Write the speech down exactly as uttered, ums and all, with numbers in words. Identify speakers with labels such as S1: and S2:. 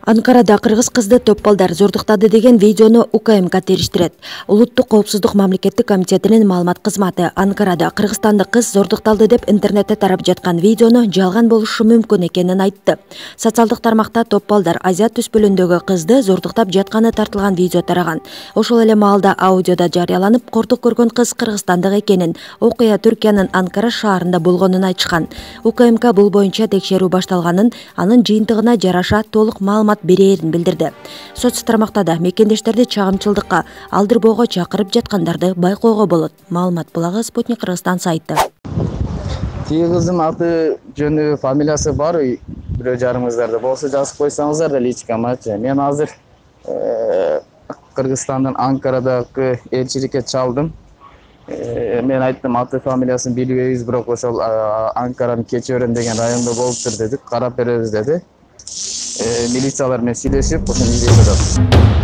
S1: Анкарада кыргыз кызды топполдар зордуктады деген видеону У К М К териштирет. Улуттук коопсуздук мамлекеттик комитетинин маалымат кызматы Анкарада кыргызстандык кыз зордукталды деп интернетте тарап жаткан видеону жалган болушу мүмкүн экенин айтты. Социалдык тармакта топполдар Азия түспөлүндөгү кызды зордуктап жатканы тартылган видео тараган. Ошол эле маалда аудиода жарыяланып, кордук көргөн кыз кыргызстандык экенин, окуя Түркиянын Анкара шаарында болгонун айтышкан. У К М К бул боюнча текшерүү башталганын, анын жыйынтыгына жараша толук маалымат берерин билдирди. Соц тармакта да мекендештерди чагымчылдыкка алдырбоого чакырып жаткандарды байкоого болот. Маалымат булагы Спутник Кыргызстан сайты.
S2: Тиги кыздын аты, жөнү, фамилиясы бар бирөө жарымыңыздарда болсо жазып койсоңуздар да личкамачы. Мен азыр Кыргызстандын Анкарадагы элчиликке чалдым. Мен айттым, аты фамилиясын билбейбиз, бирок ошол Анкаранын Кечиөрөн деген районунда болуптур дедик, карап беребиз деди. Милициялар менен сүйлөшүп, ошону издеп жатат.